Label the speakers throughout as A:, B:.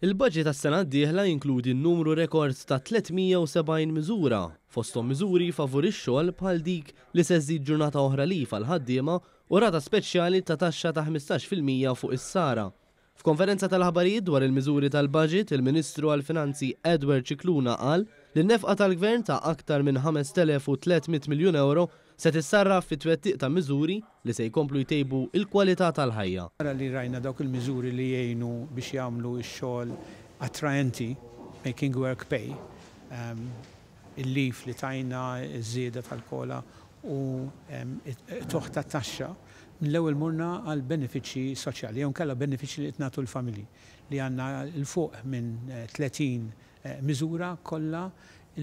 A: Il-budget għas-sena d-dieħla jinkludi numru rekord ta' 370 miżura, fosthom miżuri favur ix-xogħol bħal dik li se żżid ġurnata oħra leave għall-ħaddiema u rata speċjali ta' taxxa ta' 15% fuq is-sara. F'konferenza tal-aħbarijiet dwar il-miżuri tal-budget, il-Ministru għall-Finanzi Edward Scicluna qal li n-nefqa tal-Gvern ta' aktar minn 5,300 miljun ewro se tissarraf fi twettiq ta' miżuri li se jkomplu jtejbu l-kwalità tal-ħajja.
B: Wara li rajna dawk il-miżuri li jgħinu biex jagħmlu x-xogħol attraenti, making work pay, il-leave li tajna, iż-żieda tal-COLA u qtugħ tat-taxxa, mill-ewwel morna għal benefiċċji soċjali jew inkella benefiċċji li qed nagħtu l-familji li għandna 'l fuq minn 30 miżura kollha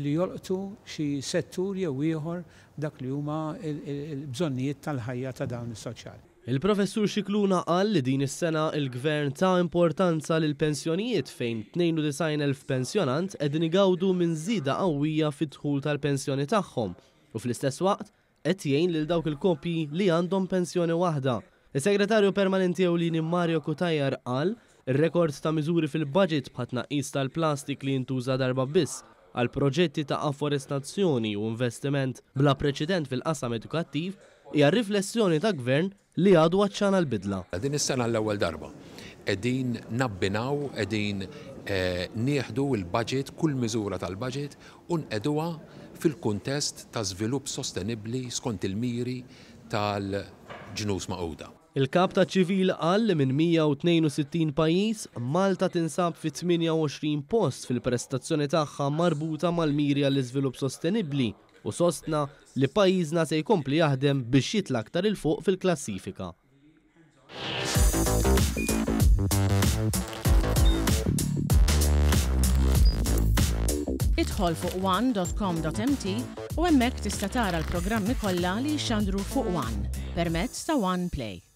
B: li jolqtu xi settur jew ieħor f'dak li huma l-bżonnijiet tal-ħajja ta' dawn is-soċjali.
A: Il-Professur Scicluna qal li din is-sena il-Gvern ta importanza lill-pensjonijiet fejn 92,000 pensjonant qegħdin igawdu minn żieda qawwija fid-dħul tal-pensjoni tagħhom u fl-istess waqt qed jgħin lil dawk il-koppji li għandhom pensjoni waħda. Is-Segretarju Permanenti Ewlieni Mario Cutajar qal ir-rekord ta' miżuri fil-budget bħat-tnaqqis tal-plastik li jintuża darba biss għal proġetti ta' afforestazzjoni u investiment bla preċedent fil-qasam edukattiv hija riflessjoni ta' gvern li għadu għatxan għall-bidla.
C: Din is-sena l-ewwel darba qegħdin nabbinaw, qegħdin nieħdu l-budget, kull miżura tal-budget u nqegħduha fil-kuntest ta' żvilupp sostenibbli skont il-miri tal-Ġnus Magħquda.
A: Il-Kap taċ-Ċivil qal li minn 162 pajjiż, Malta tinsab fit-28 post fil-prestazzjoni tagħha marbuta mal-miri għall-iżvilupp sostenibbli u sostna li pajjiżna se jkompli jaħdem biex jitla' aktar 'il fuq fil-klassifika.
D: Idħol fuq one.com.mt u hemmhekk tista' tara l-programmi kollha li jixxandru fuq One permezz ta' One Play.